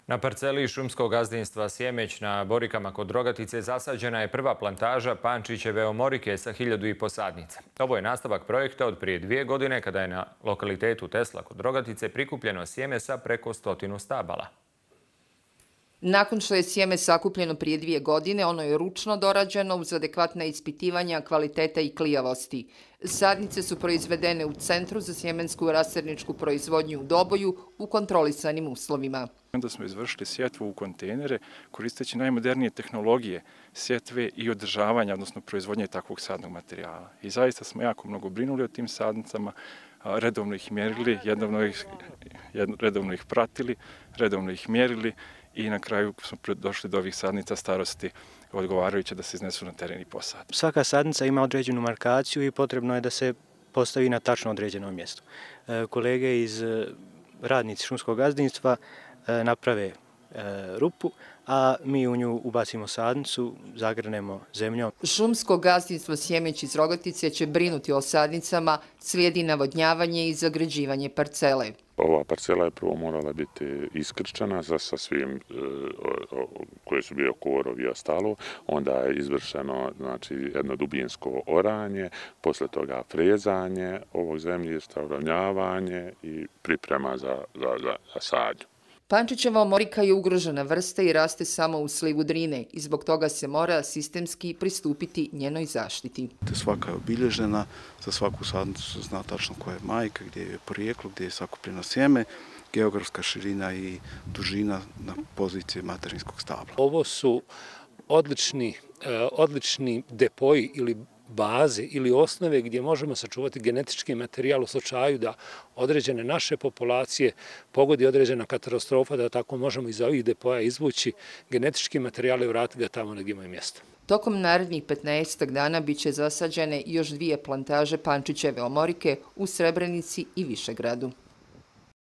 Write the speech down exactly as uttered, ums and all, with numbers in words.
Na parceli šumskog gazdinstva Sjemeć na Borikama kod Rogatice zasađena je prva plantaža Pančićeve omorike sa hiljadu i po sadnica. Ovo je nastavak projekta od prije dvije godine kada je na lokalitetu Tesla kod Rogatice prikupljeno sjeme sa preko stotinu stabala. Nakon što je sjeme sakupljeno prije dvije godine, ono je ručno dorađeno uz adekvatna ispitivanja kvaliteta i klijavosti. Sadnice su proizvedene u Centru za sjemensku rasadničku proizvodnju u Doboju u kontrolisanim uslovima. Onda smo izvršili sjetvu u kontejnere koristeći najmodernije tehnologije sjetve i održavanja, odnosno proizvodnje takvog sadnog materijala. I zaista smo jako mnogo brinuli o tim sadnicama, redovno ih mjerili, redovno ih, redovno ih pratili, redovno ih mjerili i na kraju smo došli do ovih sadnica starosti odgovarajuće da se iznesu na teren i posade. Svaka sadnica ima određenu markaciju i potrebno je da se postavi na tačno određeno mjesto. Kolege iz radnici šumskog gazdinstva naprave rupu, a mi u nju ubacimo sadnicu, zagrnemo zemljom. Šumsko gazdinstvo Sjemeć iz Rogatice će brinuti o sadnicama, slijedi navodnjavanje i zagrađivanje parcele. Ova parcela je prvo morala biti iskrčana sa, sa svim e, o, koje su bile korovi i ostalo. Onda je izvršeno znači, jedno dubinsko oranje, posle toga frezanje ovog zemljišta, uravnjavanje i priprema za, za, za, za sadnju. Pančićeva omorika je ugrožena vrsta i raste samo u slivu Drine i zbog toga se mora sistemski pristupiti njenoj zaštiti. Svaka je obilježena, za svaku sadnicu se zna tačno koja je majka, gdje je porijeklo, gdje je sakupljeno sjeme, geografska širina i dužina na poziciji materinskog stabla. Ovo su odlični, odlični depoji ili baze ili osnove gdje možemo sačuvati genetički materijal u slučaju da određene naše populacije pogodi određena katastrofa, da tako možemo iz ovih depoja izvući genetički materijal i vratiti ga tamo gdje imaju mjesto. Tokom narednih petnaestak dana bit će zasađene još dvije plantaže Pančićeve omorike u Srebrenici i Višegradu.